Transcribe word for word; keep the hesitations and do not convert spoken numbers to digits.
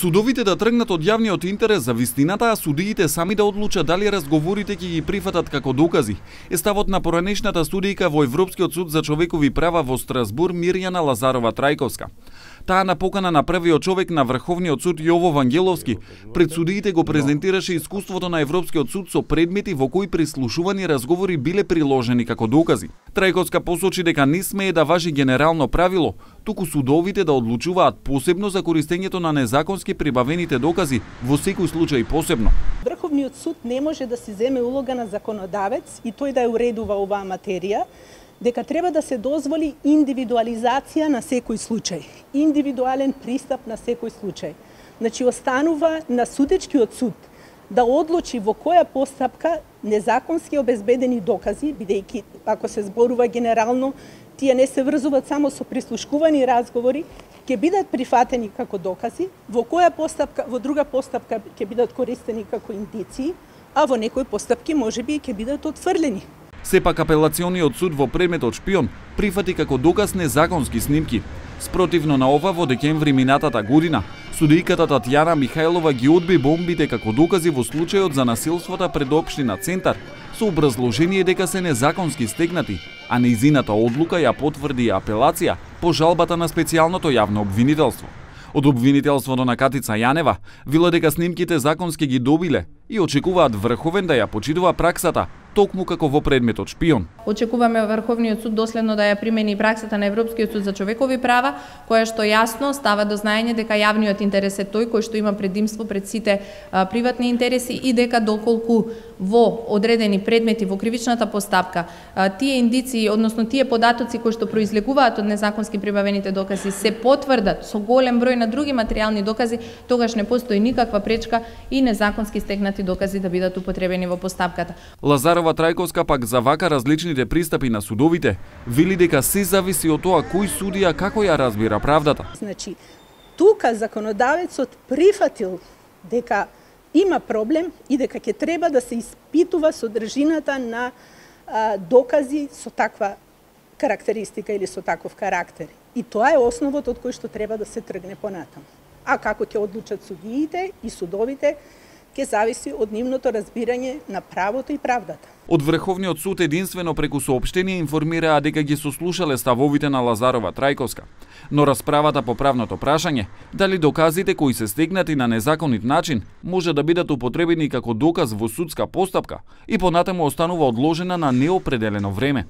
Судовите да тргнат од јавниот интерес за вистината, а судиите сами да одлучат дали разговорите ќе ги прифатат како докази, е ставот на поранешната судијка во Европскиот суд за човекови права во Страсбур Мирјана Лазарова Трајковска. Таа на покана на првиот човек на Врховниот суд Јово Вангеловски пред судиите го презентираше искуството на Европскиот суд со предмети во кои прислушувани разговори биле приложени како докази. Трајковска посочи дека не смее да важи генерално правило, туку судовите да одлучуваат посебно за користењето на незаконски прибавените докази во секој случај посебно. Врховниот суд не може да си земе улога на законодавец и тој да ја уредува оваа материја, дека треба да се дозволи индивидуализација на секој случај, индивидуален пристап на секој случај. Значи, останува на судечкиот суд да одлучи во која постапка незаконски обезбедени докази, бидејќи ако се зборува генерално, тие не се врзуваат само со прислушкувани разговори, ќе бидат прифатени како докази, во која постапка, во друга постапка ќе бидат користени како индиции, а во некои постапки можеби ќе бидат отфрлени. Сепак апелациониот суд во предметот Шпион прифати како доказ незаконски снимки. Спротивно на ова, во декември минатата година, судијката Татјана Михајлова ги одби бомбите како докази во случајот за насилствата пред општина Центар, со образложение дека се незаконски стегнати, а нејзината одлука ја потврди апелација по жалбата на специјалното јавно обвинителство. Од обвинителството на Катица Јанева вела дека снимките законски ги добиле и очекуваат Врховен да ја почитува праксата, токму како во предметот Шпион. Очекуваме Врховниот суд доследно да ја примени праксата на Европскиот суд за човекови права, која што јасно става до знаење дека јавниот интерес е тој кој што има предимство пред сите а, приватни интереси и дека доколку во одредени предмети во кривичната постапка а, тие индиции, односно тие податоци кои што произлегуваат од незаконски прибавените докази се потврдат со голем број на други материјални докази, тогаш не постои никаква пречка и незаконски стегнати докази да бидат употребени во постапката. Лазарова Трајковска пак за вака различните пристапи на судовите вели дека се зависи од тоа кој судија како ја разбира правдата. Значи, тука законодавецот прифатил дека има проблем и дека ќе треба да се испитува содржината на а, докази со таква карактеристика или со таков карактер. И тоа е основот од кој што треба да се тргне понатаму. А како ќе одлучат судиите и судовите, ќе зависи од нивното разбирање на правото и правдата. Од Врховниот суд единствено преку соопштение информираа дека ги сослушале ставовите на Лазарова Трајковска, но расправата по правното прашање дали доказите кои се стегнати на незаконит начин може да бидат употребени како доказ во судска постапка и понатаму останува одложена на неопределено време.